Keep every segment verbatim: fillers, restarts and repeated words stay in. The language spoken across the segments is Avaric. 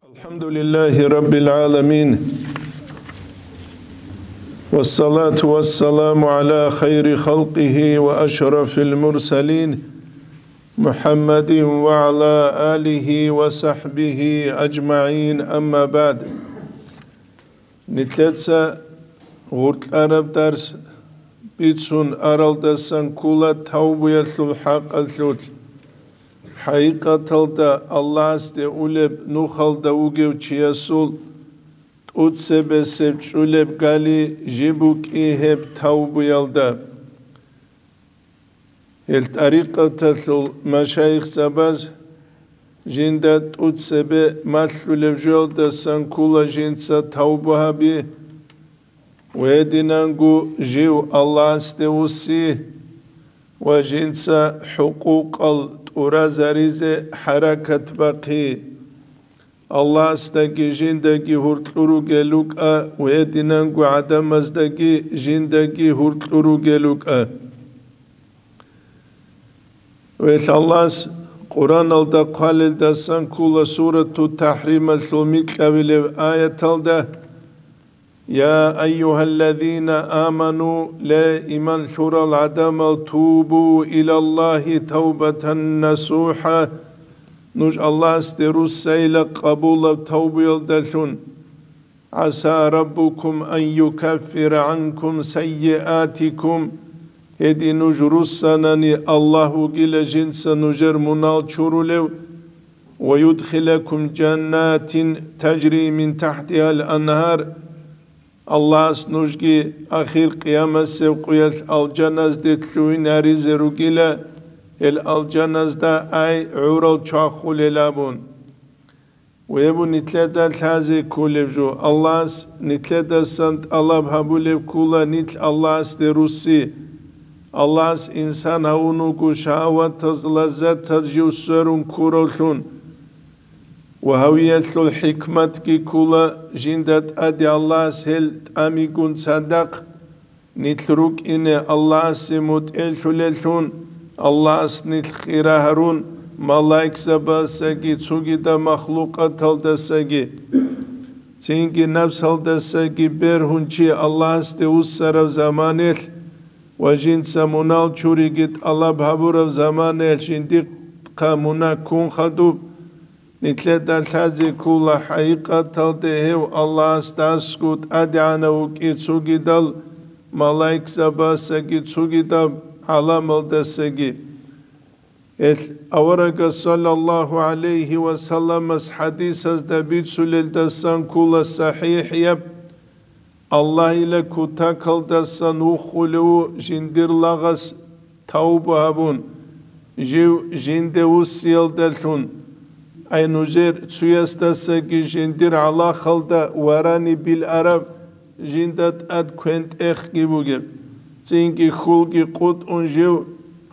الحمد لله رب العالمين، والصلاة والسلام على خير خلقه وأشرف المرسلين محمد وعلى آله وصحبه أجمعين، أما بعد. Нилъеца гъоркьараб дарс бицун аралдасан ккола тавбуялъул хӀакъалъулъ. ХӀакъикъаталда Аллагьасде улеб нухалда вугев чиясул тӀуцебесеб чӀулеб гали жиб букӀи гьеб тавбуялда. Гьел тӀарикъаталъул машайихзабаз жинда тӀуцебе малъулеб жоялдасан ккола жинца тавба гьаби, ва гьединанго жив Аллагьасде вуссин ва жинца хӀукъукъал тӀуразаризе хӀаракат бахъин. Аллагьасдаги жиндаги гьуркьур ругел рукӀа ва гьединанго гӀадамаздаги жиндаги гьуркьур ругел рукӀа. Гьел Аллагьас Къуръаналда хъвалелдасан ккола Сурату ТахӀрималъул микьабилеб аяталда: يا أيها الذين آمنوا, ле, иман лъурал гӀадамал, توبوا إلى الله توبة نصوحا, нуж Аллагьасде руссайила къабулаб тавбуялдалъун. عسى ربكم أن يكفر عنكم سيئاتكم, гьедин нуж руссанани Аллагь вугила жинца нужер мунал чурулев, ويدخلكم جنات تجري من تحتها الأنهار, Аллагьас нужги ахир къиямасеб къуялъ алжаназде лъугьинаризе ругила, гьел алжаназда ай гӀурал чвахулел абун. Гьеб нилъеда лъазе кколеб жо, Аллагьас нилъедасан тӀалаб гьабулеб ккола нилъ Аллагьасде руссин. Аллагьас инсан гьавун вуго шагьаватаз, лаззатаз жив сверун ккуравлъун. Ва гьавиялъул хӀикматги ккола, жинда тӀаде Аллагьас гьел тӀамигун цадахъ нилъ рукӀине Аллагьасе мутӀигӀлъулеллъун, Аллагьас нилъ хира гьарун, малаикзабаздасаги цогидаб махлукъаталдасаги, цинги напсалдасаги бергьун чи Аллагьасде вуссараб заманалъ ва жинца мунал чуриги тӀалаб гьабураб заманалъ жиндихъа мунагь ккун хадуб, нилъеда лъазе ккола хӀакъикъаталде гьев Аллагьасдасго тӀадегӀанав вукӀин цогидал малаикзабаздасаги цогидаб гӀаламалдасаги. Гьел аварагас саллаллагьу гӀалайгьи ва салламас хӀадисазда бицулелдасан ккола сахӀихӀияб: Аллагьила кутакалдасан вухулев жиндир лагъас тавба гьабун, жив жинде вуссиялдалъун, ай нужер цуясдасаги жиндир гӀалахалда варани билараб жинда тӀад квен-тӀехги бугеб, цинги хьулги къутӀун жив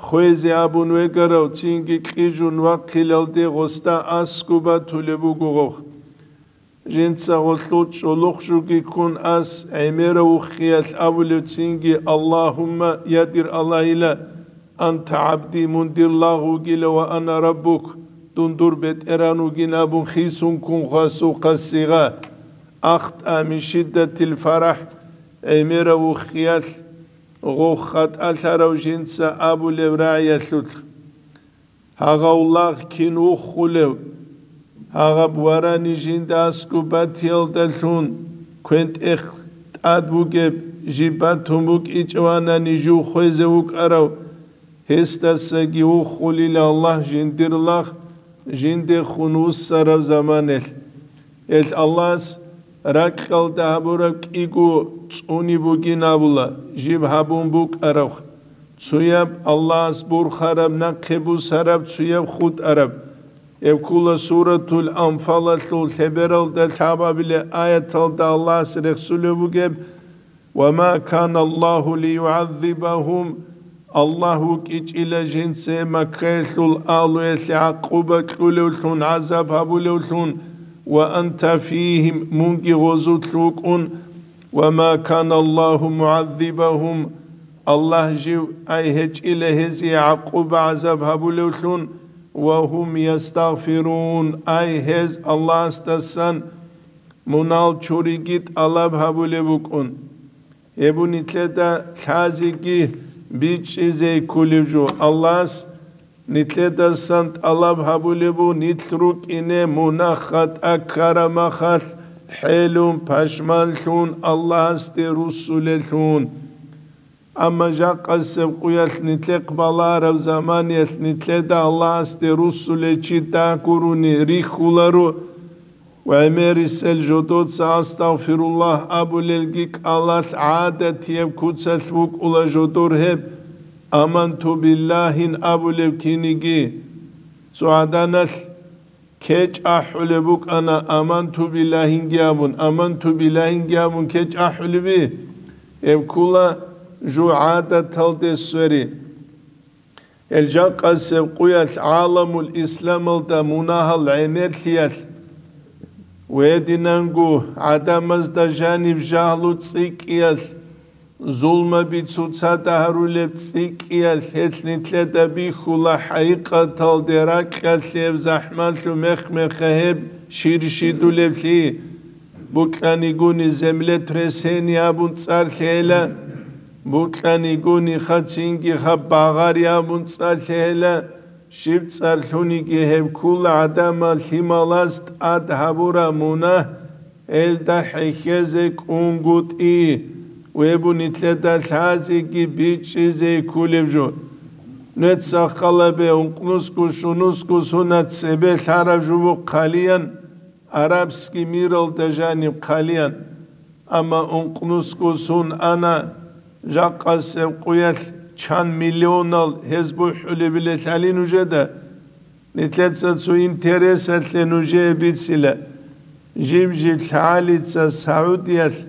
хвезе абун вегарав, цинги кьижун вахъиналде гъосда аскӀоб батулеб буго гъов. Жинца гъолъул чӀолохъ жуги ккун ас гӀемерав вухиялъ абулев цинги: Аллагьумма, я дир Аллагьила, анта гӀабди, мун дир лагъ вугила, ва ана раббук, дун дур бетӀеран вугин абун хисун ккун хвасухъа сигъа, ахтӀа мин шиддатил фарахӀ, гӀемерав вухиялъ гъов хатӀалъарав жинца абулеб рагӀиялъулъ. Гьагъав лагъ кин вухулев? Гьагъаб варани жинда аскӀоб батиялдалъун, квен-тӀех тӀад бугеб, жиб батун букӀичӀевани жив хвезе вукӀарав, гьесдасаги вухулила Аллагь жиндир лагъ жиндехун вуссараб заманалъ. Гьел Аллагьас ракьалда гьабураб кӀиго цӀуни бугин абула, жиб гьабун букӀараб, цуяб Аллагьас бурхараб, нахъе бусараб, цуяб хутӀараб. Гьеб ккола Суратул Анфалалъул лъебералда лъабабилеб аяталда Аллагьас рехсулеб бугеб: «Ва ма кана Аллагьу лиюгӀаззибагьум», Аллагь вукӀичӀила жинца Маккаялъул агьлуялъе гӀакъуба кьулевлъун, гӀазаб гьабулевлъун, «ва анта фигьим», мунги гъозулъ вукӀун, «ва ма кана Аллагьу мугӀаззибагьум», Аллагь жив ай гьечӀила гьезие гӀакъуба-гӀазаб гьабулевлъун, ва гьум ястагъфирун, ай, гьез Аллагьасдасан мунагьал чуриги тӀалаб гьабулеб букӀун. Гьеб нилъеда лъазеги бичӀчӀизе кколеб жо. Аллагьас нилъедасан тӀалаб гьабулеб бу нилъ рукӀине мунагь-хатӀа ккарамахалъ хӀелун, пашманлъун, Аллагьасде руссулелъун. Амма жакъасеб къуялъ нилъехъ балараб заманиялъ нилъеда Аллагьасде руссулев чи дагьгурони рихьуларо, ва гӀемерисел жодоца «Астагъфируллагь» абулелги кӀалалъ гӀадатияб куцалъ букӀула жодор гьеб «Аманту биллагьин» абулеб киниги. Цо гӀаданалъ кечӀ ахӀулеб букӀана «Аманту биллагьинги» абун, «Аманту биллагьинги» абун кечӀ ахӀулеби? Гьеб ккула жугьадаталде свери. Гьел жакъасеб къуялъ гӀаламул исламалда мунагьал гӀемерлъиялъ, гьединанго гӀадамазда жаниб жагьлу цӀикӀкӀиялъ, зулмаби цоцазда гьарулеб цӀикӀкӀиялъ гьелъ нилъеда бихьула хӀакъикъаталде ракьалъе гьеб захӀмалъу мех-меха гьеб щирщидулеблъи, букьанигони землетрясение абун цӀар лъела, букьанигони хацинги хаб багъари абун цӀар лъела, щиб цӀар лъуниги гьеб ккула гӀадамал лъималаз тӀад гьабураб мунагь, гьелда хӀехьезе кӀунгутӀи, гьеб нилъеда лъазеги бичӀчӀизе кколеб жо. Нуца халабе ункънусго щунусго сунат цебе лъараб жубу хъалиян, арабский миралда жаниб хъалиян. Амма ункънусго сун ана, жакъасеб къуялъ чан миллионал гьез бухӀулебилелъали нужеда. Нилъеца цо интересалъе нужее бицила. Жиб-жиб лъагӀалица Саудиялъ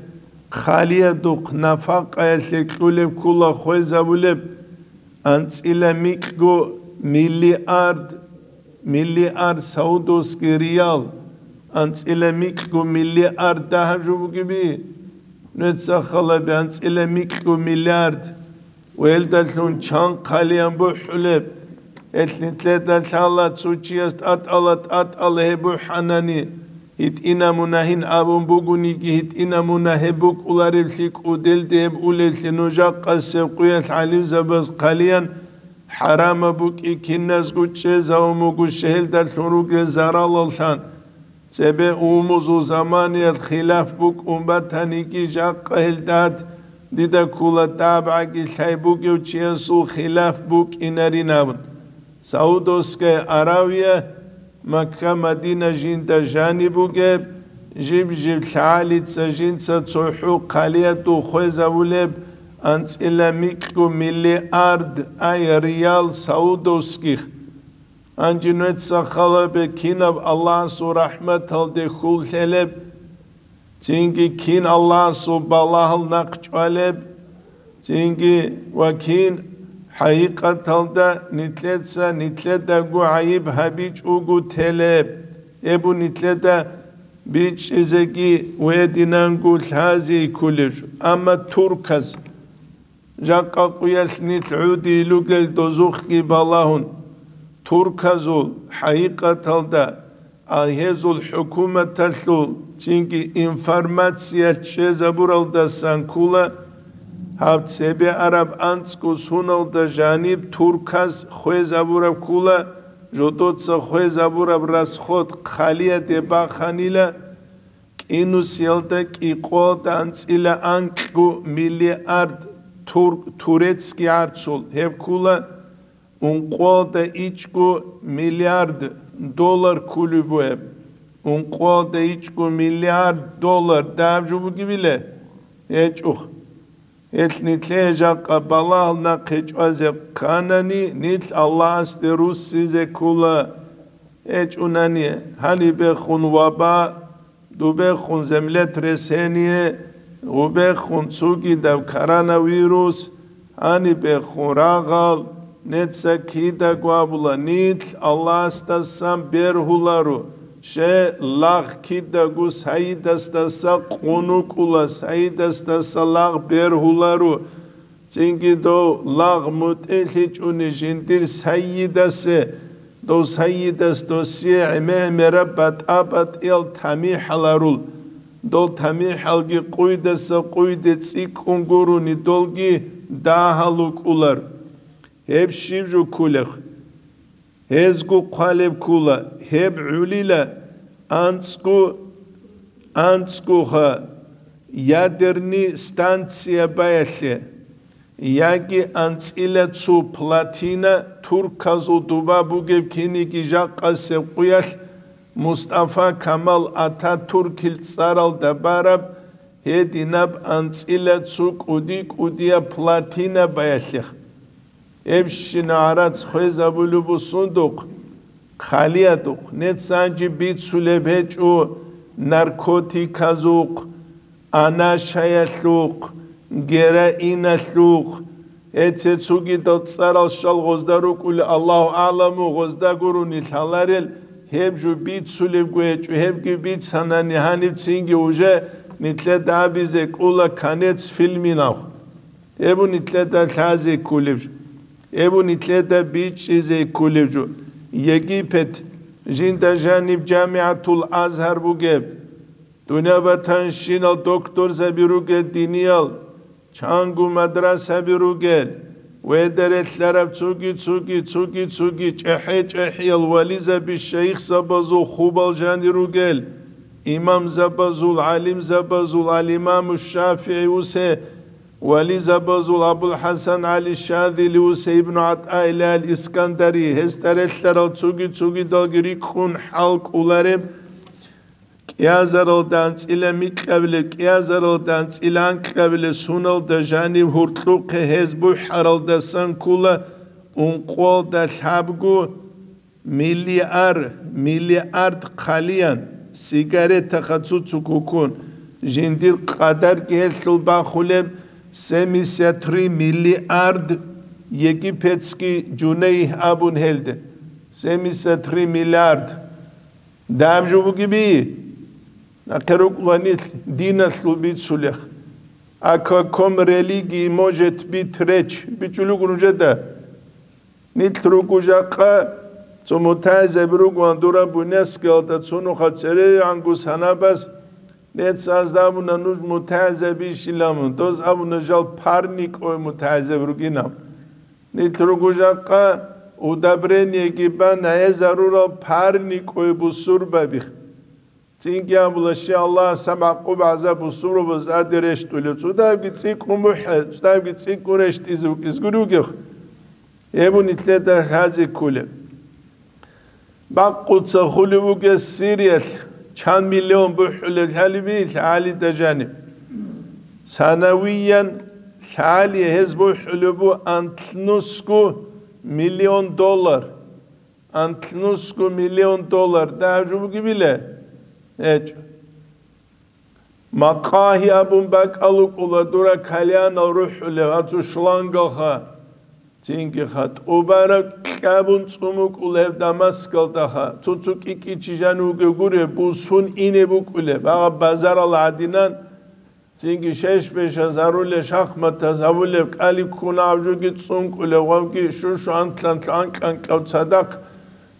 хъалиядухъ нафакъаялъе кьулеб ккула хвезабулеб анцӀила микьго миллиард, миллиард саудовский риял, анцӀила микьго миллиард дагьаб жо бугеби? Нуца халаби анцӀила микьго миллиард. Ва гьелдалъун чан хъалиян бухӀулеб? Гьелъ нилъеда лъала цо чияс тӀатӀала-тӀатӀала гьеб бухӀанани, гьитӀина мунагьин абун бугониги, гьитӀина мунагь гьеб букӀуларевлъи кӀуделде гьеб улевлъи, нуж жакъасеб къуялъ гӀалимзабаз хъалиян хӀарамаб букӀи киназго чӀезавун буго, щегьелдалъун ругел заралаллъан. Цебе умузул заманиялъ хилаф букӀун батаниги, жакъа гьелдад дида ккула дабгӀаги лъай бугев чиясул хилаф букӀинарин абун. Саудовская Аравия, Макка-Мадина жинда жаниб бугеб, жиб-жиб лъагӀалица жинца цохӀо хъалиядул хвезабулеб анцӀила микьго миллиард ай риял саудовских. Гьанже нуца халабе кинаб Аллагьасул рахӀматалде хьул лъелеб, цинги кин Аллагьасул балагьал нахъ чӀвалеб, цинги ва кин хӀакъикъаталда нилъеца нилъедаго гӀайиб гьабичӀого телеб, гьеб нилъеда бичӀчӀизеги гьединанго лъази кколеб жо. Амма турказ жакъа къуялъ нилъ гӀодизе ругел дозухъги балагьун, турказул хӀакъикъаталда, а гьезул хӀукуматалъул цинги информация чӀезабуралдасан ккула, гьаб цебе араб анцӀго суналда жаниб турказ хвезабураб ккула, жодоца хвезабураб расход хъалияде баханила, кӀинусиялда кӀикъоялда анцӀила анкьго миллиард тур-, турецкий гӀарцул, гьеб ккула ункъоялда ичӀго миллиард доллар кколеб бугеб. Ункъоялда ичӀго миллиард доллар дагьаб жо бугебила? ГьечӀо. Гьелъ нилъее жакъа балагьал нахъе чӀвазе кканани, нилъ Аллагьасде руссизе ккола. ГьечӀунани, гьанибехун ваба, дубехун землетрясение, гъубехун цогидаб коронавирус, гьанибехун рагъал, нуца кидаго абула, нилъ Аллагьасдасан бергьуларо, щай лагъ кидаго сайидасдаса къун вукӀула, сайидасдаса лагъ бергьуларо, цинги дов лагъ мутӀигӀлъичӀони жиндир сайидасе Дов сайидас досие гӀемер-гӀемераб батӀа-батӀиял тамихӀал гьарул. Дол тамихӀалги къуйдаса къуйде цӀикӀкӀун гурони, долги дагьал рукӀулар. Гьеб щиб жо кколеб? Гьезго хъвалеб ккола, гьеб гӀолила анцӀго, анцӀгоха ядерный станция баялъе. Яги анцӀила цо плотина, турказул доба бугеб киниги жакъасеб къуялъ Мустафа Камал Ататуркил цӀаралда бараб гьединаб анцӀила цо кӀуди-кӀудияб плотина баялъех. Гьебщина гӀарац хвезабулеб буго сундухъ, хъалиядухъ, нецанги бицулеб гьечӀо наркотиказухъ, анашаялъухъ, героиналъухъ. Гьеце цогидал цӀарал щал гъозда рукӀули, Аллагьу агӀламу, гъозда гурони лъаларел, гьеб жо бицулебго гьечӀо, гьебги бицанани гьанибцинги уже нилъеда абизе кӀола конец фильминав. Гьеб нилъеда лъазе кколеб жо. Гьеб нилъеда бичӀчӀизе кколеб жо. Египет, жинда жаниб ЖамигӀатул Азгьар бугеб. Дунья батанщинал докторзаби ругел диниял, чанго мадрасаби ругел, веда релълъараб цоги-цоги, цоги-цоги, чӀехӀе-чӀехӀиял вализаби шайихзабазул хубал жанир ругел, имамзабазул, гӀалимзабазул, ал-Имаму ШафигӀи усе, вализабазул АбулхӀасан ГӀали Шазили усе, Ибну ГӀатӀаилла ал-Искандари, гьесда релълъарал цоги-цогидалги рикӀкӀун хӀал кӀолареб, кӀиазаралда анцӀила микьабилеб, кӀиазаралда анцӀила анкьабилеб суналда жаниб гьуркьухъе гьез бухӀаралдасан ккола ункъоялда лъабго миллиар-, миллиард хъалиян, сигаретаха цуцу кукун, жиндир къадарги гьелъул бахулеб семьдесят три миллиард египетский жунейх абун гьелде. Семьдесят три миллиард. Даб жо бугеби? Нахъе рукӀула нилъ диналъул бицулех. О каком религии может быть речь? БичӀчӀулего нужеда. Нилъ руго жакъа, цо мутагӀилзаби ругоан дураб буняскиялда цо нуха церегӀанго санабаз, нецаз абуна нуж мутагӀилзабийищилан, доз абуна жал парникӀой мутагӀилзаби ругинан. Нилъ руго жакъа удобрениеги бан гӀезарурал парникӀой бусурбабих. Цинги абула, щай Аллагьас гьаб гӀакъуба-гӀазаб бусурбабаз тӀаде рещтӀулев, цӀудабги цӀикӀкӀун бухӀе, цӀудабги цӀикӀкӀун рещтӀизе вукӀизеги ругев. Гьеб нилъеда лъазе кколеб. Бакъуца хулев вугес Сириялъ чан миллион бухӀулеб лъалеб лъагӀалида жаниб. Санавиян лъагӀалие гьез бухӀулеб бу анлънусго миллион доллар. Анлънусго миллион доллар дагьаб жо бугебила? ГьечӀо. Макъагьи абун бакӀал рукӀула дура кальянал рухӀулев, гьацу шлангалха, цинги ха тӀубараб кьабун цӀун букӀулеб Дамаскалдаха, цо-цо кӀи-кӀи чи жанив вугев гуреб, бусун ине букӀулеб, агъаб базарал гӀадинан, цинги шеш-бешаз гьарулел, шахматаз гьавулеб, кӀали ккун гьав жоги цӀункӀулев, гъавги шушу анлъан-анкьанкьав цадахъ,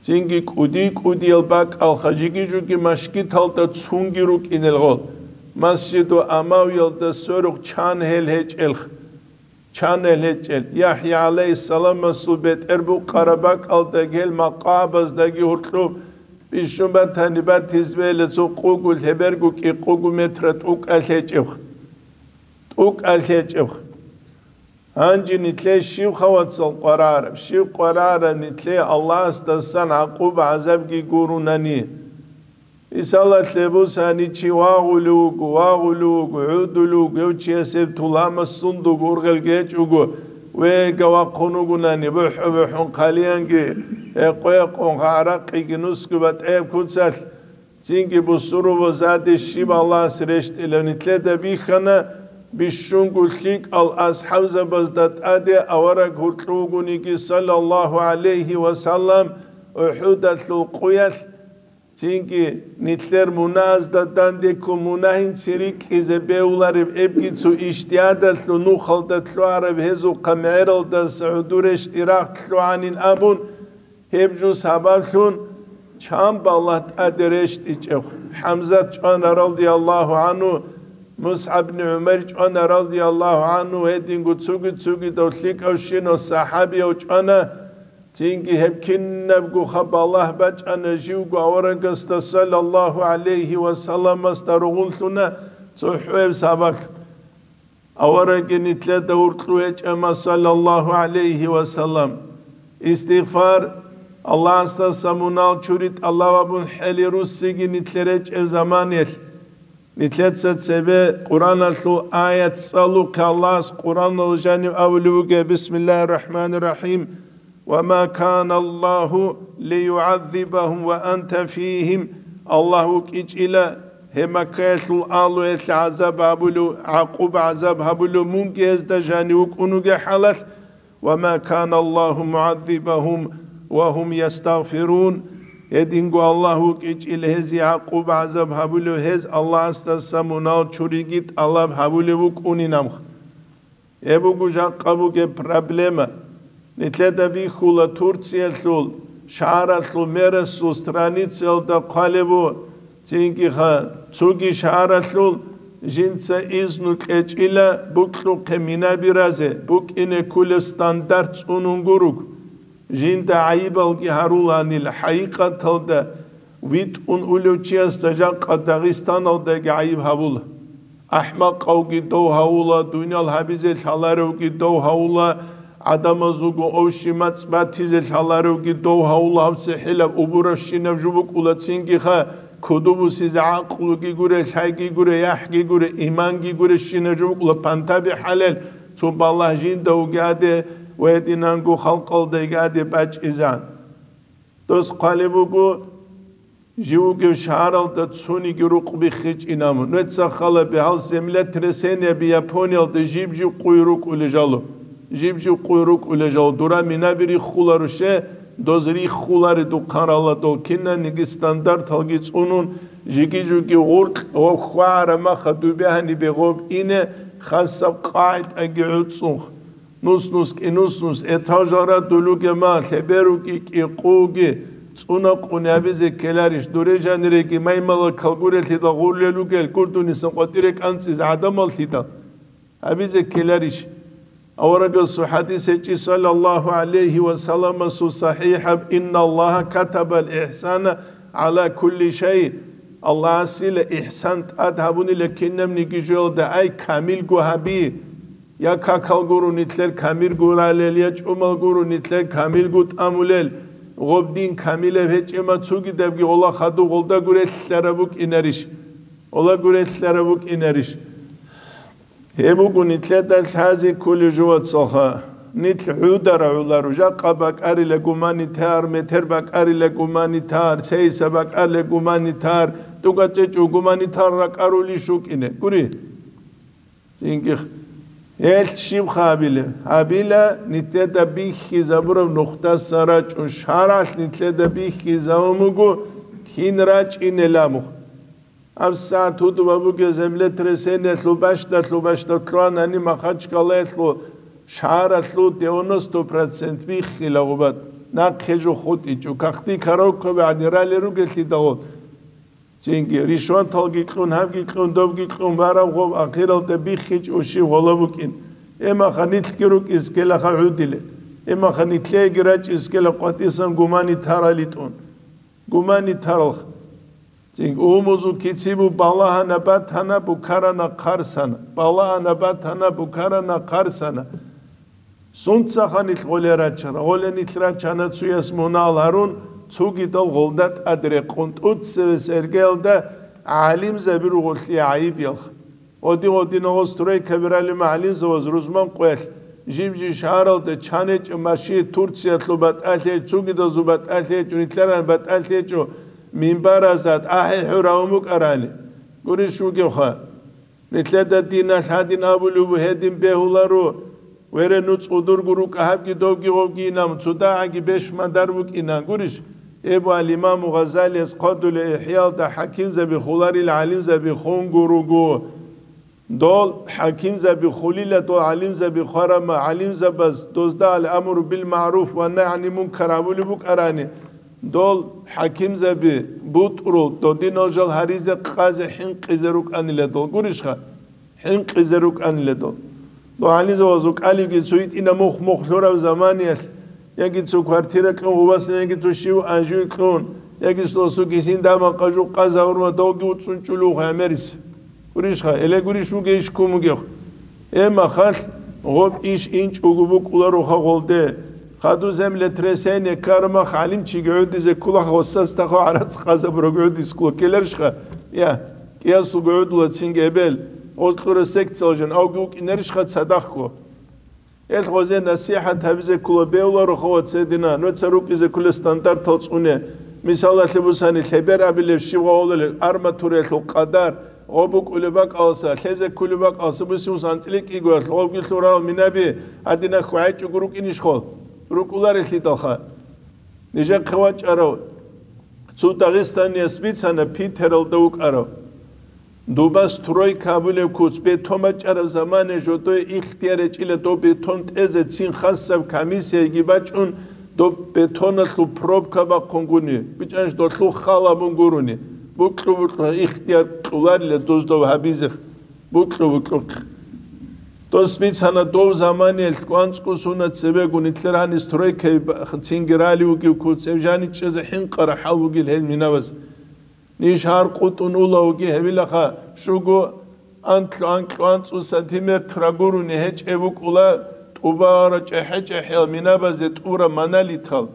цинги кӀуди-кӀудиял бакӀалха, жиги-жуги машгиталда цунги рукӀинел гъол, Масжиду Амавиялда сверухъ чан гьел гьечӀелха. Чан гьел гьечӀел, ЯхӀя гӀалайгьиссаламасул бетӀер букъараб бакӀалда гьел макъабаздаги гьоркьоб бищун батани, батиз бейла цо къугу лъеберго кӀикъугу метра тӀукӀалъ гьечӀебха. ТӀукӀалъ гьечӀебха. Гьанже нилъее щибха, вацал, къварараб? Щиб къварараб нилъее Аллагьасдасан гӀакъуба-гӀазабги гурунани? Мисалалъе бусани, чи вагъулев вуго, вагъулев вуго, гӀодулев вуго, гьев чияс гьеб туламас сундуго ургъел гьечӀого, вега вахъун вугонани, бухӀу-бухӀун хъалиянги, гьекъо-гьекъон гӀаракъиги нусго батӀияб куцалъ, цинги бусурбабазде щиб Аллагьас рещтӀилев нилъеда бихьана, бищунго лъикӀал асхӀабзабазда тӀаде авараг гьоркьов вугониги, саллаллагьу гӀалайгьи ва саллам, УхӀудалъул къуялъ, цинги нилъер мунагьазда дандеккун мунагьинцин рикӀкӀизе бегьулареб эбги цо ижтигьадалъул нухалда лъугӀараб гьезухъа мегӀералдаса гӀодор рещтӀи рагъ лъугӀанин абун, Гьеб жо сабаблъун чан балагь тӀаде рещтӀичӀеб. ХӀамзат чӀвана, радияллагьу гӀангьу, МусгӀаб ибн ГӀумайр чӀвана, радияллагьу гӀангьу, гьединго цуги-цугидав лъикӀавщинав сахӀабияв чӀвана. Цинги гьеб кинабгоха балагь бачӀана живго аварагасда, саллаллагьу гӀалайгьи ва салламасда ругъунлъуна цохӀояб сабаблъун. Аварагги нилъеда гьуркьу гьечӀама, саллаллагьу гӀалайгьи ва саллам. Истигъфар, Аллагьасдаса мунагь чури тӀалаб гьабун хӀели руссиги нилъер речӀеб заманаялъ. Нилъеца цебе Къуръаналъул аят цӀалухъе, Аллагьас Къуръаналъ жанив абулев вугев: «Бисмиллагьир рахӀманир рахӀим. Ва ма кана Аллагьу лиюгӀаззибагьум ва анта фигьим». Аллагь вукӀичӀила гьеб Маккаялъул агьлуялъе гӀазаб гьабулев, гӀакъуба-гӀазаб гьабулев мунги гьезда жанив вукӀун вугеб хӀалалъ, «Ва ма кана Аллагьу мугӀаззибагьум ва гьум ястагъфирун». Гьединго Аллагь вукӀичӀила гьезие гӀакъуба-гӀазаб гьабулев, гьез Аллагьасдаса мунагь чуриги тӀалаб гьабулев вукӀунин амх. Гьеб буго жакъа бугеб проблема. Нилъеда бихьула Турциялъул шагьаралъул мерасул страницаялда хъвалеб бу, цинги-ха, цоги шагьаралъул жинца изну кьечӀила букьухъе мина биразе, букӀине кколеб стандарт цӀунун гуруг. Жинда гӀайибалги гьаруланил, хӀакъикъаталда витӀун улев чиясда жакъа Дагъистаналдаги гӀайиб гьабула. АхӀмакъавги дов гьавула, дуниял гьабизе лъаларевги дов гьавула, гӀадамазулго овщи-мацӀ батизе лъаларевги дов гьавула, гьаб цехӀилаб убуравщинаб жо букӀула, цинги-ха, кодобе босизе гӀакълуги гуре, лъайги гуре, яхӀги гуре, иманги гуре, щинаб жо букӀула, пантаби хӀалел, цо балагь жинда вугеаде ва гьединанго халкъалда йигеаде бачӀизан. Дос хъвалеб буго, жив вугев шагьаралда цониги рукъ биххичӀин абун. Нужеца хал гьабе, гьал землетрясениеби Япониялда жиб-жиб къуй рукӀулел жало. Жиб-жиб къуй рукӀулел жало. Дура минаби риххуларо ще, доз риххулари духъан рала дол. Кинаниги стандарталги цӀунун, жиги-жуги гъуркь ва хвагӀара маха дубе гьанибе гъоб ине, хасаб къагӀидаги гӀуцӀцӀун. Нус-нус, кӀи нус-нус, этажалра дулуге ма, лъеберуги кӀикъуги, цӀуна къунябизе ккеларищ, дуре жаниреги маймала калгурелъидал гъурлел ругел, гурдунисан къватӀире кӀанцӀизе гӀадамаллъидал гьабизе ккеларищ? Аварагасул хӀадис гьечӀи, саллаллагьу гӀалайгьи ва салламасул сахӀихӀаб: «Инналлагьа катабал ихӀсана гӀала кулли шай». Аллагьасила ихӀсан тӀад гьабунила кинабниги жоялда, ай, камилго гьаби. Я какал гуро нилъер камир гуралел, я чӀумал гуро нилъер камилго тӀамулел. Гъоб дин камилаб гьечӀема цугидабги гъола хадуб гъолда гурелъараб букӀинарищ? Гъола гурелъараб букӀинарищ? Гьеб буго нилъеда лъазе кколеб жо, вацалха. Нилъ гӀудара гӀоларо, жакъа бакӀарила гуманитар, метер бакӀарила гуманитар, цейса бакӀарила гуманитар, тӀугацӀечӀо гуманитар ракӀарулищ вукӀине. Гури. Цинги гьелъ щиб гьабила? Гьабила, нилъеда бихьизабураб нухдасан рачӀун шаргӀалъ нилъеда бихьизабун буго, кин рачӀинел абухъ. ГьабсагӀат гьудуб бугеб землетрясениялъул бащдалъул бащдаб лъугьанани Махачкалаялъул шагьаралъул девяносто процент биххила гъубат, нахъе жо хутӀичӀо, кахти коробкаби гӀадин ралел ругелъидал. Цинги ришваталги кьун, гьабги кьун, добги кьун, бараб гъоб ахиралда биххичӀо щив гъола букӀин. Эмаха нилъги рукӀискелаха гӀудиле. Эмаха нилъеги рачӀискела къватӀисан гуманитаралитӀун. Гуманитаралха. Цинги умузул кицибу балагьана батана букарана хъарсана. Балагьана батана букарана хъарсана. Сунцаха нилъ гъоле рачана? Гъоле нилъ рачана цуяс мунагьал гьарун, цугидал гъолда тӀад рекъун, тӀуцеве сергеялда гӀалимзаби ругъулъи гӀайиб ялха. Гъодин-гъодинагъо стройкаби ралима гӀалимзаваз рузман къоялъ, жиб-жиб шагьаралда чанечӀеб маши Турциялъул батӀалъе, цугидазул батӀалъе гьечӀо, нилъеран батӀалъе гьечӀо, минбаразда тӀахӀи хӀуравун букӀарани. Гурищ вугевха? Нилъеда диналъ гьадин абулеб буго, гьедин бегьуларо, вере, нуц удурго рукӀа гьабги довги гъовги инан, цо дагӀаги беш мадар букӀина, гурищ? Эбу ал-Имаму Гъазалияс хъодулев ИхӀяалда хӀакимзаби хуларил гӀалимзаби хун гуруго. Дол хӀакимзаби хулила, дол гӀалимзаби хварама, гӀалимзабаз дозда ал-амру бил-магӀруф ва нагь гӀанил мункар гьабулеб букӀарани, дол хӀакимзаби бутӀрул, додинал жал гьаризе, къазе хӀинкъизе рукӀанила дол. Гурищха? ХӀинкъизе рукӀанила дол. Дол гӀалимзабаз рукӀалиги цо гьитӀина мухь-мухь лъурав заманиялъ, яги цо квартира кьун гъубасан, яги цо щив анжуй кьун, яги сосуги син даман къажу къаза гьурма довги уцӀцӀун чӀулугъ гӀемерис. Гурищха, эле гурищ вугейищ ккун вугев? Э, махалъ, гъоб иш инчӀого букӀулароха гъолде. Хаду землетрясение ккармах гӀалимчиги гӀодизе ккулаха, гъосас тахо гӀарац къазабураб гӀодис ккула ккеларищха? Я, кӀиясулго гӀодула цинги эбел, гъоз кьура секциял жан, авги вукӀинарищха цадахъго? Эл гъозе насихӀат гьабизе ккула бевларо хават цедина, нуца рукӀизе ккула стандартал цӀуне. Мисалалъе бусани, лъебер абилеб щиб гъавулел арматураялъул къадар, гъо букӀулеб бакӀалса, лъезе ккулеб бакӀалса, бусиус анцӀила кӀигоялъ гъовги лъурал минаби гьадина хьвагӀичӀого рукӀинищ хол? РукӀуларелъидалха. Нижехъе вачӀарав цо дагъистанияс бицана Питералда вукӀарав. Дуба стройка абулеб куц, бетон бачӀараб замане жодое ихтияр гьечӀила доб бетон тӀезе, цин хасаб комиссияги бачӀун, доб бетоналъул пробка бахъунгуни, бичӀанщ долъул хал абун гурони, букьу-букьу ихтияр кьуларила дуздав гьабизе, букьу-букьухъ. Дос бицана дов заманиялъ кӀванцӀго суна цебегун, итлер гьани стройкаи ба-, цинги рали вугев куц, гьев жаничӀезе хӀинкъара хӀал вугил гьел минабаз. Ниж гьар къутӀун улавги гьевилаха, щуго анкьу-анкьу анцӀу сантиметр гурони гьечӀеб букӀула, тӀубара чӀехӀе-чӀехӀел минабазе тӀура монолитал.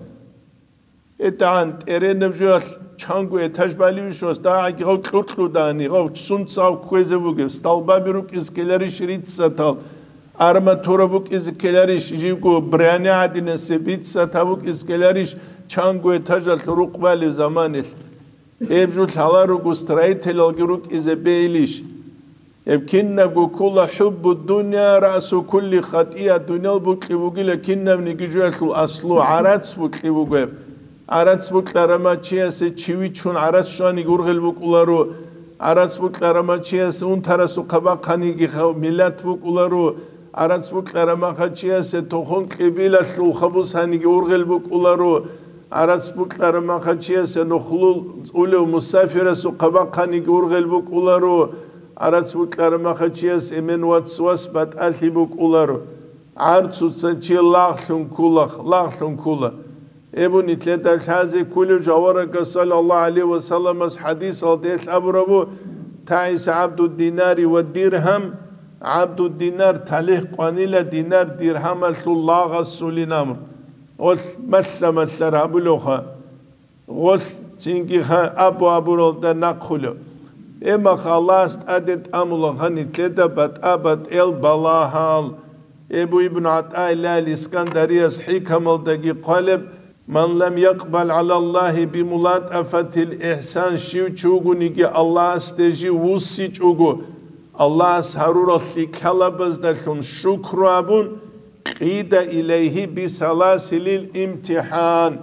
ГьетӀагӀан тӀеренаб жоялъ чанго этаж балевищ ва дагӀаги гъав кьуркьудани, гъав сунцав кквезе бугеб, столбаби рукӀиз ккеларищ риццатал, арматура букӀизе ккеларищ, живго бряне гӀадинасе биццатаб букӀизе ккеларищ, чанго этажалъ рукъ балев заманилъ. Гьеб жо лъала руго строителалги рукӀизе бейилищ? Гьеб кинабго ккола хӀуббу дунъя раъсу кулли хатӀия, дуниял букьи бугила кинабниги жоялъул аслу, гӀарац букьи буго гьеб. ГӀарац букьарама чиясе чи вичун гӀарац щваниги ургъел букӀуларо, гӀарац букьарама чиясе унтарасухъа бахъаниги ха-, миллат букӀуларо, гӀарац букьарама хъа чиясе тохун кьибилалъул хабус гьаниги ургъел букӀуларо, гӀарац букьарама хъа чиясе нухлул улев мусафирасухъа бахъаниги ургъел букӀуларо, гӀарац букьарама хъа чияс эмен вацвас батӀалъи букӀуларо. ГӀарцуца чи лагълъун ккула, лагълъун ккула. Эбу нитлъеда лъазе ккулев жаварага саллаллаху гӀалайхи ва салламас хӀадисалда гьелъ абурабу: «ТагӀиса гӀабду динари ва диргьам», гӀабду динар талихӀ къванила динар диргьамалъул лагъасулин амр. Гъолъ малъа-малъар гьабулевха. Гъолъ цинги ха-, абу-абуралда нахъулев. Эмаха Аллагьас тӀаде тӀамула гьанитлъеда батӀа-батӀел балагьал. Эбу Ибн ГӀатӀаиллагьил Искандарияс хӀикамалдаги хъвалеб: «Ман лам якъбал гӀалаллагьи бимулатӀафатил ихсан», щив чи вугониги Аллагьасде жив вуссичӀого, Аллагьас гьарурал лъикӀлъалабаздалъун шукру абун, «кьида илайгьи бисаласилил имтихӀан».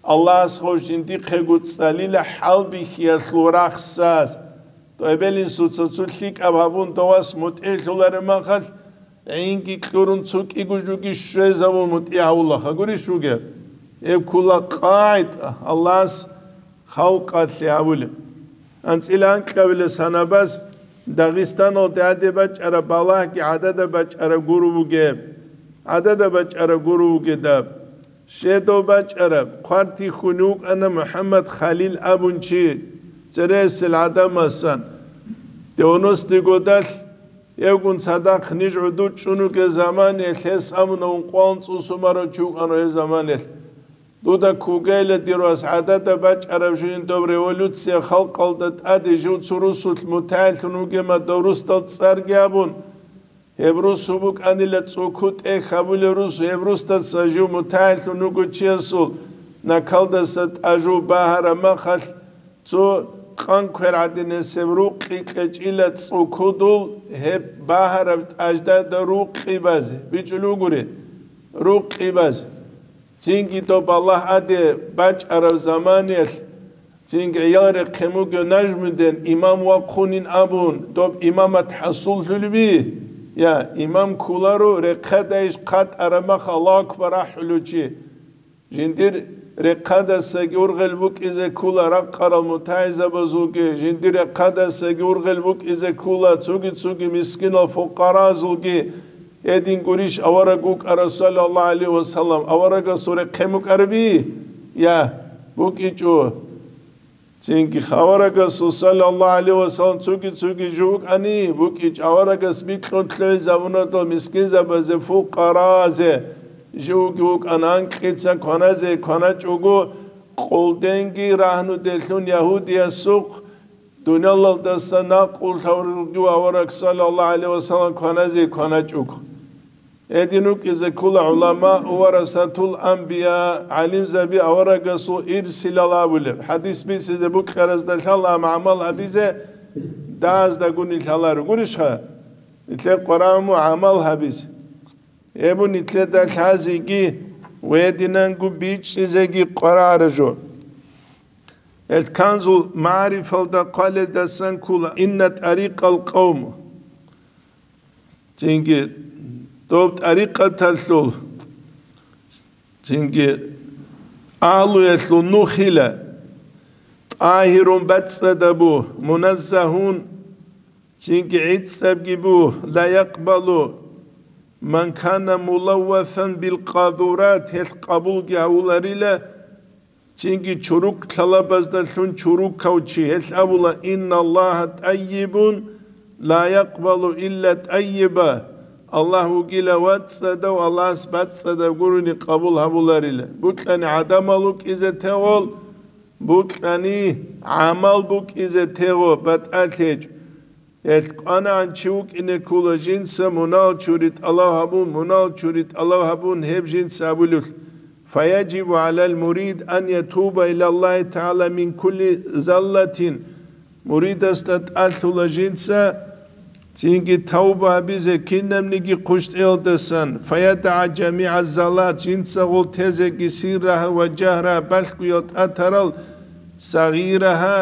Аллагьас гъов жиндихъего цӀалила хӀалбихьиялъул рахсаз. ТӀобелин суца цо лъикӀаб гьабун довас мутӀигӀлъулареб махалъ, гӀинги кьурун цо кӀиго жуги щвезавун мутӀигӀ гьавулаха гурищ вугеб? Гьеб ккула къагӀида Аллагьас халкъалъе гьавулеб. АнцӀила анкьабилеб санабаз Дагъистаналде гьаде бачӀараб балагьги гӀадада бачӀараб гуро бугеб. ГӀадада бачӀараб гуро бугедаб. Щедав бачӀараб, хъвартихьун вукӀана МухӀаммад Халил абун чи, цересел гӀадамасан. Девяностый годалъ, евгун цадахъ ниж гӀодов чӀун вугеб заманиялъ гьес амуна ункъоялда цӀусун барав чи вукӀана гьеб заманиялъ. Дуда ккугейла, дир вас, гӀадада бачӀараб жугьин доб революция халкъалда тӀаде жив цо русулъ мутагӀилъун вугема дов русдал цӀарги абун. Гьеб русу букӀанила цӀуку тӀехь гьабулев русу, гьеб русдаса жив мутагӀилъун вуго чиясул накалдаса тӀажу багьараб махалъ, цо къан квер гӀадинасеб рукъи кьечӀила цӀукудул гьеб багьараб тӀаждада рукъи базе, бичӀчӀулев гури, рукъи базе. Цинги доб балагь гьаде бачӀараб заманиялъ Цинги гӀиял рехъе мугев Нажмудин имам вахъунин абун, доб имамат хӀасуллъулеби? Я, имам кколаро, рехъадайищ хъатӀараб мах Аллагьу акбар ахӀулев чи. Жиндир рехъадасаги ургъел букӀизе ккола ракъарал мутагӀилзабазулги, жиндир рехъадасаги ургъел букӀизе ккола цоги-цоги мискинал фукъаразулги. Гьедин гурищ авараг вукӀарав, саллаллагьу гӀалайгьи вассалам, аварагасул рехъе мукӀараби? Я, букӀичӀо. Цинги аварагасул, саллаллагьу гӀалайгьи вассалам, цоги-цоги жо вукӀани, букӀичӀ аварагас бикьун лъугӀизабунадал мискинзабазе, фукъаразе, живги вукӀана анкьица кваназе кваначӀого, къолденги рагьнуделъун ягьудиясухъ, дуниялалдаса накъулъ гьавурги авараг, саллаллагьу гӀалайгьи вассалам, кваназе кваначӀого. Гьедин рукӀизе ккола гӀулама, варасатул анбия, гӀалимзаби аварагасул ирсилал абулеб. ХӀадис бицизе букӀаразда лъала, амма гӀамал гьабизе дагьаздагуни лъаларо. Гурищха? Нилъер къварагӀуму гӀамал гьабизе. Гьеб нилъеда лъазеги ва гьединанго бичӀчӀизеги къварагӀара жо. Эл Канзул магӀарифалда хъвалелдасан ккола: «Инна тӀарикъал къавм». Цинги доб тӀарикъаталъул, цинги агьлуялъул нухила, тӀагьирун бацӀцӀадабу, муназзагьун, цинги гӀицӀабги бу, ла якъбалу ман кана мулаввасан бил къадурат, гьелъ къабулги гьавуларила, цинги чурукъ лъалабаздалъун чурукав чи, гьелъ абула: «Инналлагьа тӀайибун, ла якъбалу илла тӀайиба». Аллагь вугила вацӀцӀадав, Аллагьас бацӀцӀадаб гурони къабул гьабуларила. Букьани гӀадамал вукӀизе тегъол, букьани гӀамал букӀизе тегъо, батӀалъ гьечӀо. Гьелъ кӀванагӀан чи вукӀине ккола жинца мунагь чури тӀалаб гьабун, мунагь чури тӀалаб гьабун гьеб жинца абулев. Фаяжибу гӀалал мурид ан ятуба илаллагьи тагӀала мин кулли заллатин. Муридасда тӀалъула жинца цинги тавба гьабизе кинабниги хъущтӀиялдасан, фаядагӀа жамигӀа заллат, жинца гъол тезеги сиррагьа ва жагьра балъгоял тӀатарал, сагъирагьа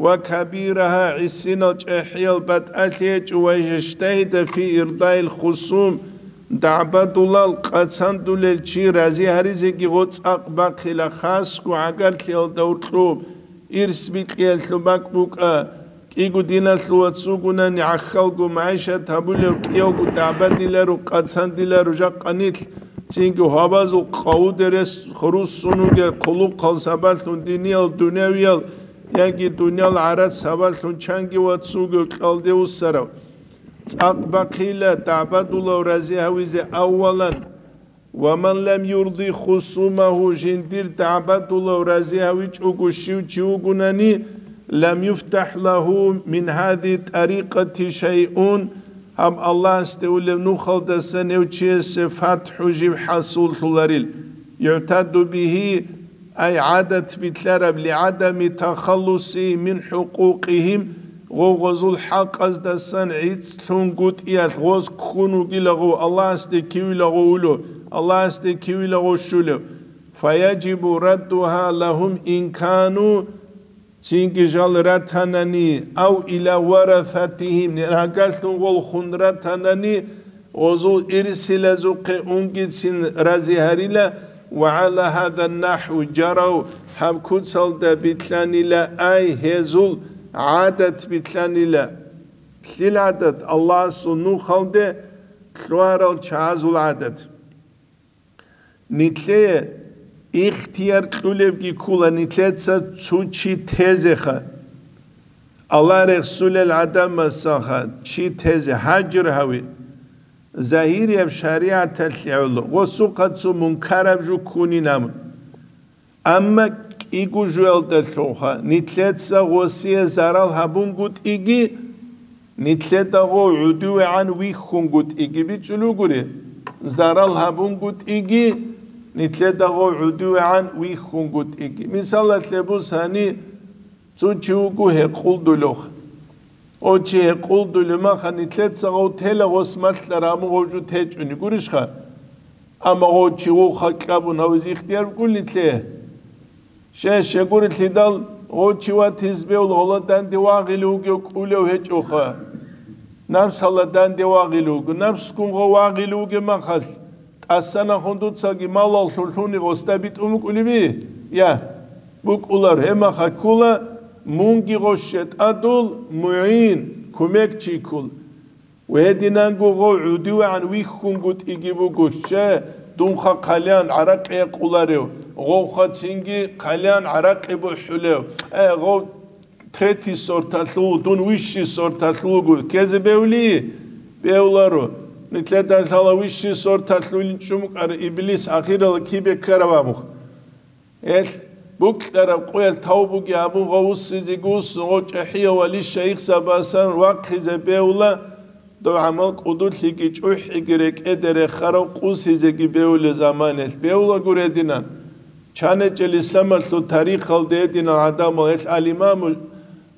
ва кабирагьа, гӀисинал чӀехӀиял батӀалъи гьечӀо, ва яжтагьида фи ирдаил хусум, дагӀбадулал къацандулел чи рази гьаризеги гъо цӀакъ бахъила, хасго гӀагарлъиялда уркьуб, ирс бикьиялъул бакӀ букӀа, кӀиго диналъул вацгунани гӀахьалго магӀишат гьабулев кӀиявго дагӀбадиларо, къацандиларо жакъа нилъ, цинги гьабазул къавудерес руссун вугел хъулухъал сабаблъун диниял, дунявиял, яги дуниял гӀарац гьабаллъун чанги вацуго кьалде вуссарав. ЦӀакъ бахъила дагӀбадулав рази гьавизе аввалан, ва ман лам юрди хусумагьу, жиндир дагӀбадулав рази гьавичӀого щив чи вугунани, лам юфтахӀ лагьу мин гьази тӀарикъати шайъун, гьаб Аллагьасде улев нухалдасан гьев чиясе фатхӀу жив хӀасуллъуларил. ЮгӀтаду бигьи, ай гӀадат билълъараб, лигӀадами тахаллуси мин хӀукъукъигьим, гъов гъозул хӀакъаздасан гӀицӀлъунгутӀиялъ гъоз ккун вугилагъов, Аллагьасде кивилагъов улев, Аллагьасде кивилагъов щулев. Фаяжибу раддугьа лагьум ин кану, цинги жал ратанани, ав иля варасатигьим, рагьаллъун гъолхун ратанани, гъозул ирсилазухъе унгицин рази гьарила, ва гӀала гьаза нахӀву жарав, гьаб куцалда билълъанила, ай гьезул гӀадат билълъанила. Лъил гӀадат? Аллагьасул нухалде лъугьарал чагӀазул гӀадат. Нилъее ихтияр кьулебги ккула нилъеца цо чи тезеха. Аллагь рехсулел гӀадамасаха чи тезе, гьажр гьави. Загьирияб шаригӀаталъе гӀоло, гъосухъа цо мункараб жо ккунин абун. Амма кӀиго жоялдалъулха нилъеца гъосие зарал гьабунгутӀиги, нилъеда гъов гӀудувегӀан вихьунгутӀиги бицӀулугури, зарал гьабунгутӀиги, нилъеда гъов гӀудувегӀан вихьунгутӀиги. Мисалалъе бусани, цо чи вуго гьекъулдулев. О чи гьекъулдулев маха нилъеца гъов тела гъос малъа раму гъов жо течӀуни гурищха? Амма гъов чи вуха кьабун гьавизе ихтияр букӀунилъе. Щай, щай гурелъидал, Гъов чи ватизе бегьула, гъола данде вагъулев вугев кӀолев гьечӀоха. Напсала данде вагъулев вуго. Напсгун гъов вагъулев вугеб махалъ, тӀасанахун дуцаги малалъур лъуни гъосда битӀун букӀулеби? Я, букӀулар. Гьеб махалъ ккола, мунги гъов щетӀадул мугӀин, кумекчи ккола. Гьединанго гъов гӀудивегӀан вихьунгутӀиги буго, щай, дунха хъалиян гӀаракъи гьекъуларев, гъовха цинги хъалиян гӀаракъи бухӀулев. Э, гъов третий сорталъул, дун высший сорталъул вуго. Ккезе бегьули? Бегьуларо. Нилъеда лъала высший сорталъулин чӀумукӀар иблис ахирала кибе ккараб абухъ. Гьелъ букьараб къоялъ тавбуги гьабун гъов вуссизеги вуссун, гъов чӀахӀияв вали-шайихзабасан вахъизе бегьула, дов гӀамал кӀудулъиги чӀухӀиги рекӀеде рехарав къусизеги бегьулел заманалъ бегьула гурединан. Чанечел исламалъул тарихалда гьединал гӀадамал, гьелъ ал-Имаму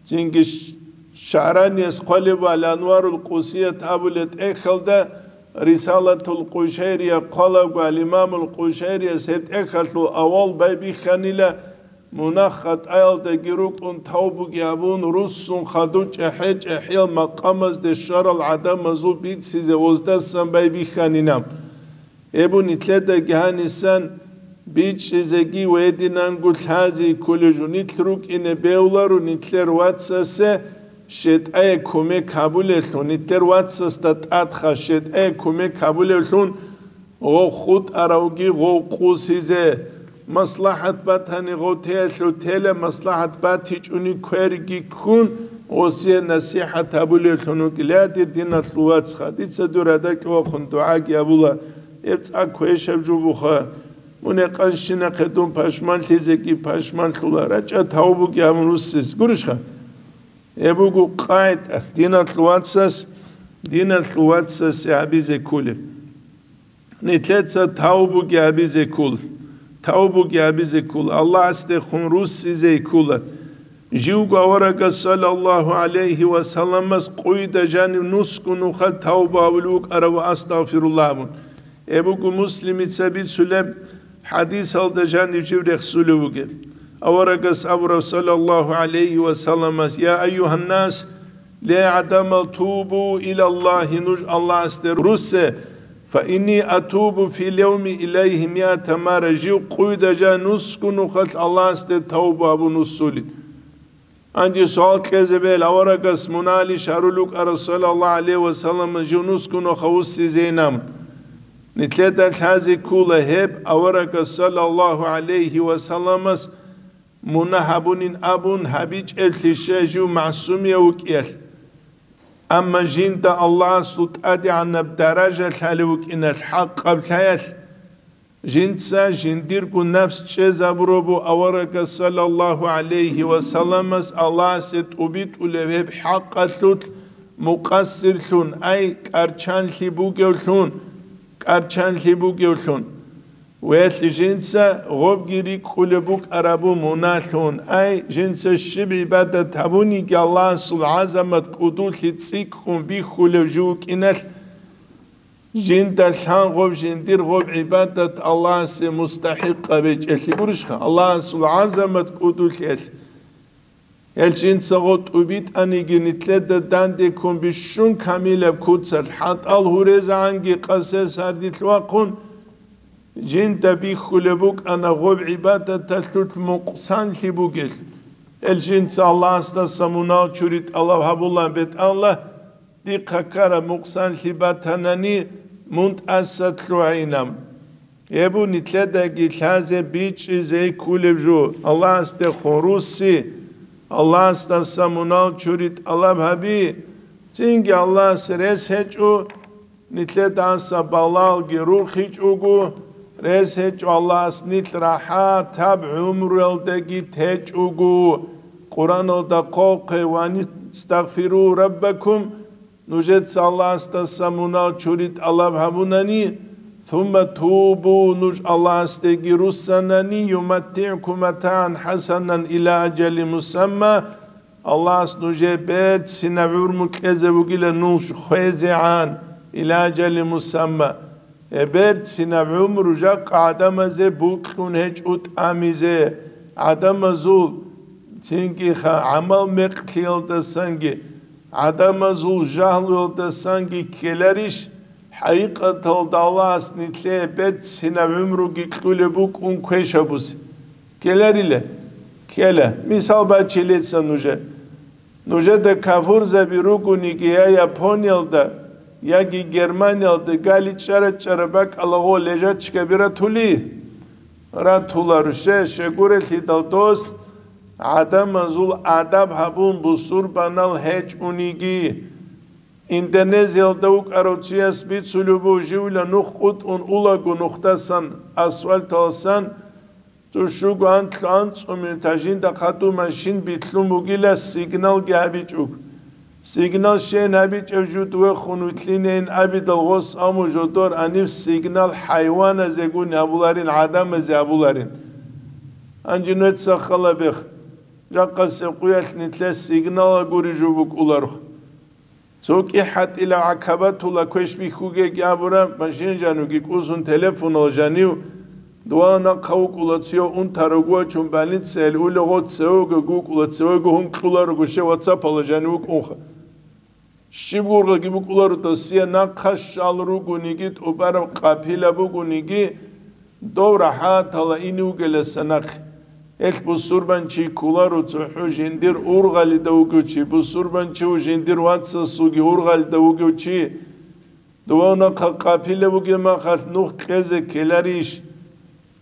Цинги Ш-, ШагӀранияс хъвалеб ва Ал-Анварул Къусият абулеб тӀехьалда, Рисалатул Къушайрия хъвалаго, Ал-Имамул Къушайрияс гьеб тӀехьалъул авал байбихьанила, мунагь-хатӀаялдаги рукӀун тавбуги гьабун, руссун хадуб чӀахӀи-чӀахӀиял макъамазде щварал гӀадамазул бицизе гъоздасан байбихьанина. Гьеб нилъедаги гьанисан бичӀчӀизеги ва гьединанго лъазе кколев жо. Нилъ рукӀине бегьуларо нилъер вацасе щетӀае кумек гьабулевлъун, нилъер вацасда тӀадха щетӀае кумек гьабулевлъун, гъов хутӀаравги гъов къусизе. МаслахӀат батани гъов теялъул тела, маслахӀат батичӀони кверги ккун, гъосие насихӀат гьабулевлъун вукӀила, дир диналъул вацха. Дица дур гьадакьа вахъун дугӀаги гьабула, гьеб цӀакъ квешаб жо буха. Мун гьекъанщинахъе дун пашманлъизеги пашманлъула, рачӀа тавбуги гьабун руссес. Гурищха? Гьеб буго къагӀида, диналъул вацас, диналъул вацасе гьабизе кколеб. Нилъеца тавбуги гьабизе ккол, тавбуги гьабизе ккол, Аллагьасдехун руссизе ккола. Живго аварагас, саллаллагьу гӀалайгьи ва салламас, къуйда жанив нусго нухалъ тавба гьабулев вукӀарав ва астагъфируллагь абун. Гьеб буго Муслимица бицулеб хӀадисалда жанив жив рехсулев вугеб. Аварагас абураб, саллаллагьу гӀалайгьи ва салламас: «Я айюгьаннас, ле гӀадамал, тубу илаллагьи, нуж Аллагьасде руссе, фа инни атубу фил явми илайгьи миата марра», жив къуйда жа нусго нухалъ Аллагьасде тавба гьабун вуссулин. Гьанже суал кьезе бегьил, аварагас мунагьалищ гьарулев вукӀарав, саллаллагьу гӀалайгьи ва салламас, жив нусго нухалъ вуссизейин абун. Нилъеда лъазе ккола гьеб аварагас, саллаллагьу гӀалайгьи ва салламас, мунагь гьабунин абун гьабичӀеблъи, щай, жив магӀсумияв вукӀиялъ. Амма жинда Аллагьасул тӀадегӀанаб даража лъалев вукӀиналъ, хӀакъаб лъаялъ, жинца жиндирго напс чӀезабурабу аварагас, саллаллагьу гӀалайгьи ва салламас, Аллагьасе тӀубитӀулев гьеб хӀакъалъулъ мукъассирлъун, ай, кӀарчанлъи бугевлъун, кӀарчанлъи бугевлъун. Велъ жинца гъобги рикӀкӀулеб букӀарабу муналъун, ай, жинца щиб гӀибадат гьабуниги Аллагьасул гӀазамат кӀудулъи цӀикӀкӀун бихьулев жив вукӀиналъ, жинда лъан гъоб жиндир гъоб гӀибадат Аллагьасе мустахӀикъаб гьечӀелъи гурищха, Аллагьасул гӀазамат кӀудулъиялъ. Гьел жинца гъо тӀубитӀаниги, нилъеда дандеккун бищун камилаб куцалъ, хӀатӀал гьурезегӀанги къасес гьардилъ вахъун, жинда бихьулеб букӀана гъоб гӀибадаталъулъ мукъсанлъи бугелъ. Гьел жинца Аллагьасдаса мунагь чури тӀалаб гьабулан, БетӀаллагь, дихъа ккараб мукъсанлъи батанани, мун тӀаса лъугӀайинаб. Гьеб нилъедаги лъазе бичӀчӀизе кколеб жо, Аллагьасдехун русси, Аллагьасдаса мунагь чури тӀалаб гьаби, цинги Аллагьас рес гьечӀо, нилъедаса балалги рухичӀого, рес гьечӀо Аллагьас нилъ рахӀатаб гӀумруялдаги течӀого. Къуръаналда хъвалхъе: «Ва ан истагъфиру раббакум», нужеца Аллагьасдаса мунагь чури тӀалаб гьабунани, «сумма тубу», нуж Аллагьасдеги руссанани, «юматтигӀкум матагӀан хӀасанан иля аджали мусамма», Аллагьас нужее берцинаб гӀумру кьезе вугила нуж хвезегӀан, иля аджали мусамма. Гьеб берцинаб гӀумру жакъа гӀадамазе бокьун гьечӀо тӀамизе, гӀадамазул цинги ха-, гӀамал-мекълъиялдасанги, гӀадамазул жагьлуялдасанги ккеларищ, хӀакъикъаталда Аллагьас нилъее берцинаб гӀумруги кьулеб букӀун квеш гьабузе? Ккеларила? Ккела. Мисал бачилеца нужер. Нужеда кафурзаби ругониги я Япониялда, яги Германиялда гали чӀара-чӀара бакӀалаго лежачкаби ратули? Ратуларо. Щай? Щайгурелъидал дос гӀадамазул адаб гьабун бусурбанал гьечӀониги. Индонезиялда вукӀарав чияс бицулеб буго, живила нух къутӀун улаго нухдасан, асфальталасан, цӀущуго анлъго-анцӀго минута жинда хадуб машин билълъун бугила, сигналги гьабичӀого. Сигнал щен гьабичӀев жуд вехун вилълъинейин абидал гъос аму жодор анив сигнал хӀайваназегун гьабуларин, гӀадамазе гьабуларин. Гьанже нуца хала бех, жакъасеб къуялъ нилъер сигнал гури жо букӀуларухъ. Цо кӀихӀатӀила гӀакабатула квеш бихьугеги абураб машин жанивги кӀусун телефонал жанив, дова нахъа вукӀула цо унтарав гуачун больницаялъ улегъо цевего вукӀула, цевего гьункьуларого ше ватсапала жанив вукӀунха. Щиб гургъаги букӀуларо досие нахъа щал ругониги, тӀубараб къапила бугониги, дов рахӀатала ине вугеласа нахъе. Гьелъ бусурбанчи кколаро цохӀо жиндир ургъалида вугев чи, бусурбанчи ву жиндир вацасулги ургъалида вугев чи. Дував нахъа къапила бугеб махалъ нух кьезе ккеларищ?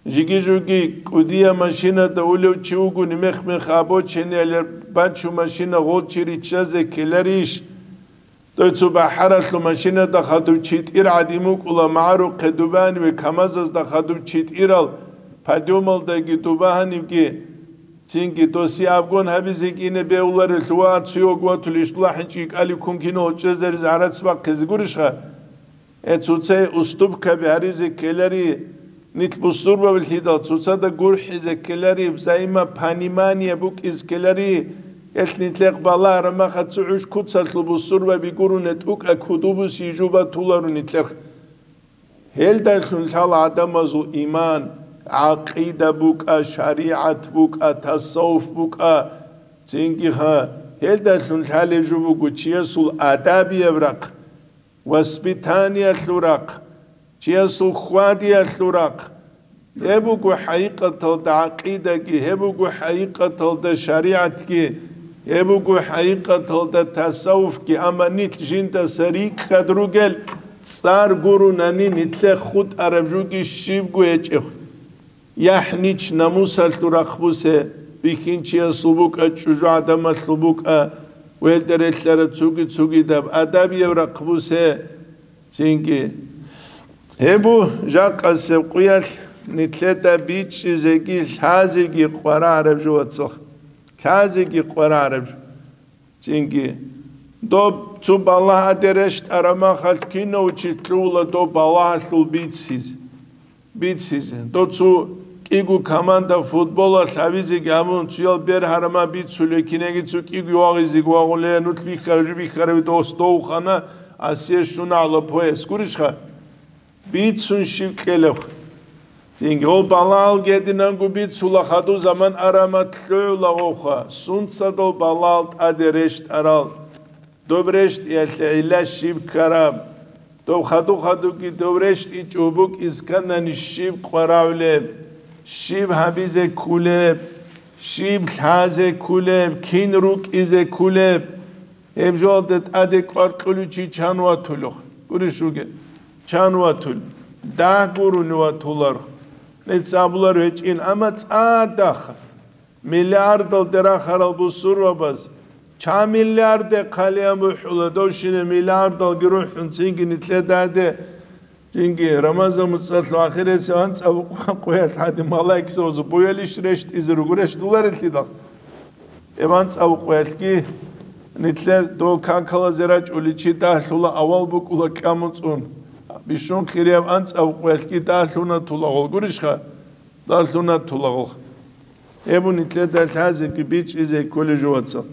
Жиги-жуги кӀудия машинада улев чи вугони мех-мех обочинаялъ бачу машина гъолчи риччазе ккеларищ? Дой цо бахӀаралъув машинада хадуб читӀир гӀадин вукӀула, магӀарухъе дубаниве, КамАЗазда хадуб читӀирал, подъемалдаги дубагьанивги, цинги доси абгон гьабизе кӀине бегьуларелъул ва цуйог ватулищ лахӀинчӀги кӀалив ккун кино гьорчӀезаризе гӀарац бахъизе гурищха? Э, цоцай уступкаби гьаризе ккелари, нилъ бусурбабилъидал цоцада гурхӀизе ккелари, взаимопонимание букӀиз ккелари, гьелъ нилъехъ балагьараб махалъ цо гӀуш куцалъул бусурбаби гуруне тӀукӀа кудубуси жуба тулару нилъехъ. Гьелдалъун лъала гӀадамазул иман, гӀакъида букӀа, шаригӀат букӀа, тасаввуф букӀа, цинги ха, гьелдалъун лъалеб жо буго чиясул адабияб рахъ. Воспитаниялъул рахъ, чиясул хьвадиялъул рахъ. Гьеб буго хӀакъикъаталда гӀакъидаги, гьеб буго хӀакъикъаталда шаригӀатги, гьеб буго хӀакъикъаталда тасаввуфги, амма нилъ жиндаса рикӀкӀад ругел цӀар гурунани нилъехъ хутӀараб жуги щибго гьечӀеб. ЯхӀнич намусалъул рахъ бусе, бихьинчиясул букӀа, чӀужугӀадамалъул букӀа, гьелда релълъараб цуги-цугидаб адабияб рахъ бусе, цинги. Гьеб бу жакъасеб къуялъ нилъеда бичӀчӀизеги лъазеги къварагӀараб жо, вацал. Лъазеги къварагӀараб жо. Цинги, доб цо балагь гьаде рещтӀараб махалъ кинав чи лъугьула доб балагьалъул бицлъизе. Бицлъизе. Доб цо кӀиго команда футболалъ гьавизеги гьабун, цоял бер гьарама бицулев, кинеги цо кӀиго вагъизеги вагъулев, нуц бихьарав жо бихьарави дос довхана, асие щуна гӀала пояс. Гурищха? Бицун щиб кьелеб? Цинги гъов балагьал гьединанго бицула, хадув заман арамат лъугӀула гъовха, сунцадал балагьал тӀаде рещтӀарал. Доб рещтӀиялъе гӀилла щиб ккараб? Доб хадув-хадувги дов рещтӀичӀого букӀиз кканани щиб къварагӀулеб? Щиб гьабизе ккулеб? Щиб лъазе ккулеб? Кин рукӀизе ккулеб? Гьеб жоялда тӀаде кӀвар кьулев чи чан ватулев? Гурищ вугев? Чан ватулев? Дагь гурони ватуларо. Нилъ абулар гьечӀин, амма цӀадахъ миллиардалде рахарал бусурбабаз, чан миллиарде хъалиян бухӀула, довщине миллиардалги рухӀун цинги нилъедаде Цинги Рамазан муцӀалъ ахиресев анцӀаб къо-, къоялъ гьадин малаикзабазул буялищ рещтӀизе руго, рещтӀуларелъидал? Эб анцӀаб къоялъги нилъер дол какалазе рачӀуличи дагьлъула, авал букӀула кьамуцӀун. Бищун хирияб анцӀаб къоялъги дагьлъуна тулагъул гурищха? Дагьлъуна тулагъул. Эбу нилъеда лъазеги бичӀчӀизе кколей жо, вацал.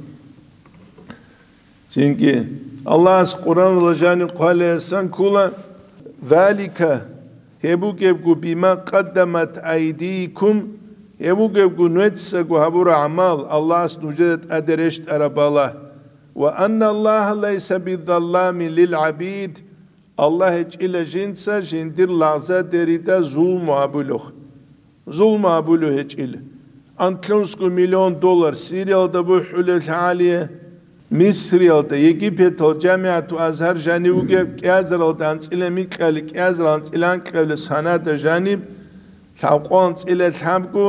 Цинги Аллагьас Къуръаналда жаниб хъвалеясан ккола: «Залика, гьеб бугебго, бима къаддамат айдийкум, Гьеб бугебгун, нужецаго гьабураб гӀамал Аллагьас нужеда тӀаде рещтӀараб балагь. Ва анна Аллагьа лайса бидзалламин лил гӀабид, Аллагь гьечӀила жинца жиндир лагъзадерида зулму гьабулев. Зулму гьабулев гьечӀила. Анкьунсго миллион доллар Сириялда бухӀулев лъагӀалие, Мисриялда, Египеталда, ЖамигӀату Азгьар жанив вугев, кӀиазаралда анцӀила микьали, кӀиазарал анцӀила анкьавилес гьанада жаниб, лъабкъо анцӀила лъабго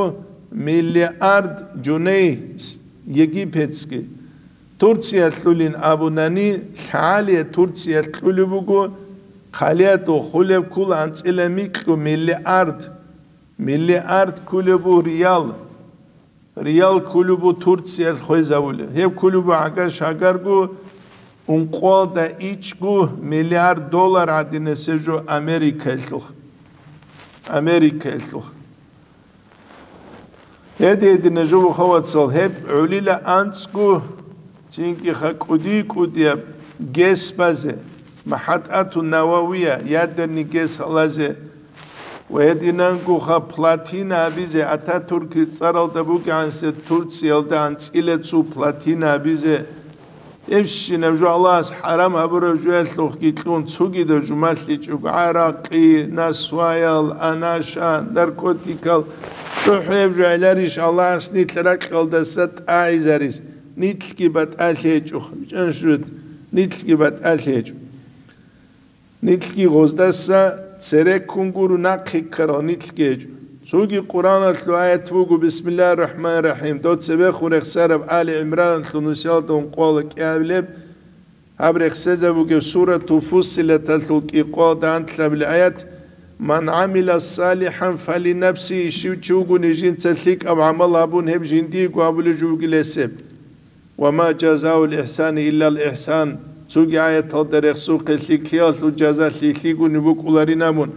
миллиард жуней с-, египетский. Турциялъулин абунани, лъагӀалие Турциялъ кьулеб буго, хъалиядул хъулеб ккула анцӀила микьго миллиард, миллиард ккулеб буго риял. Риял ккулеб буго Турциялъ хвезавулеб. Гьеб ккулеб буго гӀагар-шагарго ункъоялда ичӀго миллиард доллар гӀадинасеб жо Америкаялъухъ. Америкаялъухъ. Гьедин-гьединаб жо буго, вацал, гьеб гӀолила анцӀго, цинги ха кӀуди-кӀудияб гес базе, МахӀатату Нававия, ядерный гес гьалазе, ва гьединанго ха плотина абизе, Ататуркил цӀаралда бугегӀансе Турциялда анцӀила цо плотина абизе, Гьебщинаб жо Аллагьас хӀарам гьабураб жоялъухъги кьун, цогидаб жо малъичӀого, гӀаракъи, насваял, анаша, наркотикал, цохӀо гьеб жо гӀеларищ Аллагьас нилъ ракьалдаса тӀагӀизарис? Нилъги батӀалъи гьечӀо, бичӀчӀанщут, нилъги батӀалъи гьечӀо. Нилъги гъоздаса цереккун гуро нахъе ккарал нилъги гьечӀо. Цоги Къуръаналъул аят буго, Бисмиллагьир рахӀманир рахӀим, дов цебехун рехсараб Али ГӀимраналъул нусиялда ункъоялда кӀиабилеб, гьаб рехсезабугеб Сурату Фуссилаталъул кӀикъоялда анлъабилеб аят, «Ман гӀамила салихӀан фалинафсигьи», щив чи вугони жинца лъикӀаб гӀамал гьабун, гьеб жиндиего абулеб жо бугила гьесеб. «Ва ма жазаул ихсани иллал ихсан», цоги аяталда рехсухъе, лъикӀлъиялъул жаза лъикӀлъигони букӀуларин абун.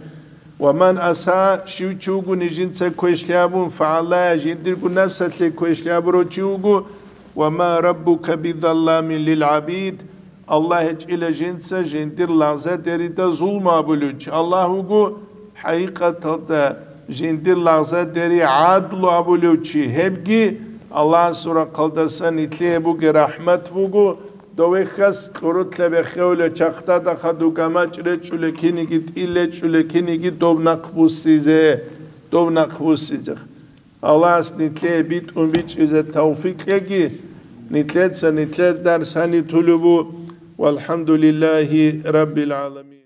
«Ва ман асаа», щив чи вугони жинца квешлъи гьабун, «фагӀаллагьа», жиндирго напсалъе квешлъи гьабурав чи вуго, «ва ма раббука бидзалламин лил гӀабид», Аллагь гьечӀила жинца жиндир лагъзадерида зулму гьабулев чи. Аллагь вуго, хӀакъикъаталда, жиндир лагъзадери гӀадлу абулев чи, гьебги Аллагьасул рахъалдасан нилъее бугеб рахӀмат буго, довехьас кьурулъа беххеулев чахъдада хадув гамачӀ речӀчӀулев, киниги тӀил речӀчӀулев, киниги доб нахъ буссизе, доб нахъ буссизе. Аллагьас нилъее битӀун бичӀчӀизе тавфикъ кьеги, нилъеца нилъер дарс гьаниб тулеб бу. ВалхӀамдулиллагьи раббил гӀаламин.